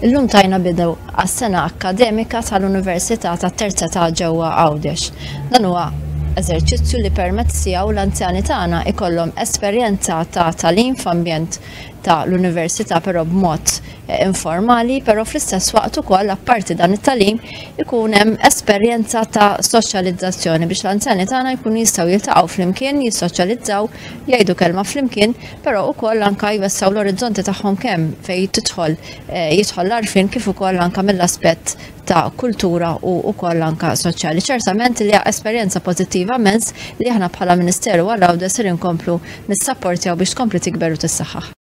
Illum tajna bidu għas-sena akkademika tal-Università tat-Terza Età ġewwa Għawdex. Dan huwa eżerċizzju li permezz tiegħu l-anzjani tagħna ikollhom esperjenza ta' tagħlim f'ambjent ta' l-università però b'mod eh, informali, però fl-istess waqt ukoll apparti dan it-tagħlim ikun hemm esperjenza ta' soċjalizzazzjoni biex l-anzjani tagħna jkunu jistgħu jiltaqgħu flimkien, jissoċjalizzaw, jgħidu kelma flimkien, però ukoll anka jwessgħu l-orizzonti tagħhom kemm fejn tidħol eh, jidħol l-għarfien kif ukoll anka mill-aspett ta' kultura u ukoll anka soċjali. Ċertament li esperjenza pożittiva immens li aħna bħala Ministeru għal Għawdex ser inkomplu nissapportjaw biex tkompli tikber u tissaħħaħ.